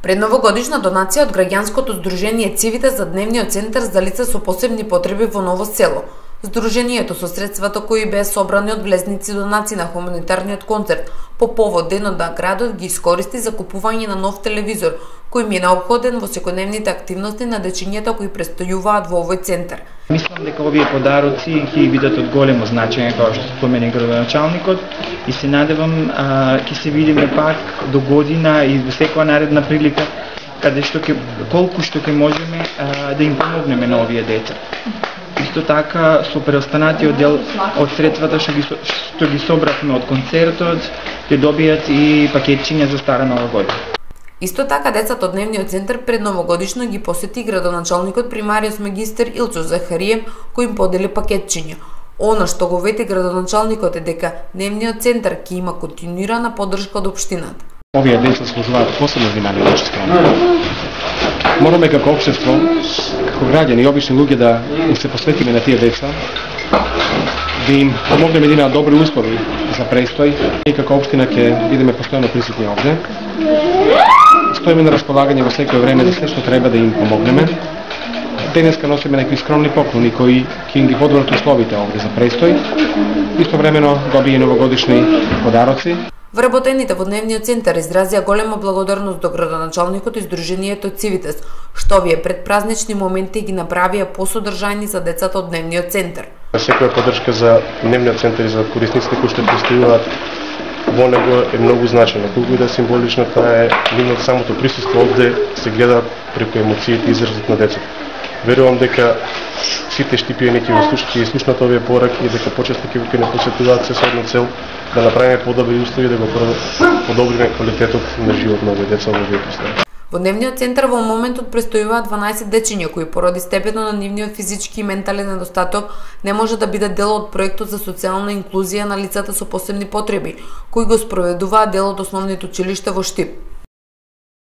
Предновогодишна донација од граѓанското здружение Цивитес за дневниот центар за лица со посебни потреби во Ново село. Здруженијето со средствата кои беа собрани од влезници донации на хуманитарниот концерт по повод денот на градот ги искористи за купување на нов телевизор, кој им е неопходен во секојдневните активности на дечињата кои престојуваат во овој центар. Мислам дека овие подароци ќе бидат од големо значење, како што спомена градоначалникот, и се надевам ќе се видиме пак до година и во секоја наредна прилика каде што колку што ќе можеме да им помогнеме на овие деца. Исто така со преостанатиот дел од средствата што ги собравме од концертот ќе добијат и пакетчиња за стара нова година. Исто така децата од дневниот центар пред новогодишно ги посети градоначалникот примариус магистер Илчо Захариев, кој им подели пакетчиња. Она што го вети градоначалникот е дека дневниот центар ќе има континуирана поддршка од општината. Овие деца служуваат посебно внимание од наша страна. Мораме како општество, како граѓани и обични луѓе да се посветиме на тие деца, да им помогнеме да имаат добри услови за престој и како општина ќе бидеме постојано присутни овде. Стоиме на располагање во секое време за се што треба да им помогнеме. Денеска носиме некои скромни поклони кои ќе им ги подобрат условите овде за престој. Истовремено добија новогодишни подароци. Вработените во дневниот центар изразија голема благодарност до градоначалникот и здруженијето Цивитес, што овие предпразнични моменти ги направија посодржајни за децата од дневниот центар. Секоја поддршка за дневниот центар и за корисниците кои што престојуваат во него е многу значена. Колку и да символично таа е, нивното самото присуство овде се гледа преку емоциите и изразот на децата. Верувам дека сите штипиени ќе слушнат овие пораки и дека почесто ќе не посетуваат се со една цел да направиме подобри услови да го подобриме квалитетот на живот на овие деца во овие простори. Во дневниот центар во моментот престојуваат 12 дечиња кои поради степенот на нивниот физички и ментален недостаток не може да бидат дел од проектот за социјална инклузија на лицата со посебни потреби, кои го спроведуваат дел од основните училишта во Штип.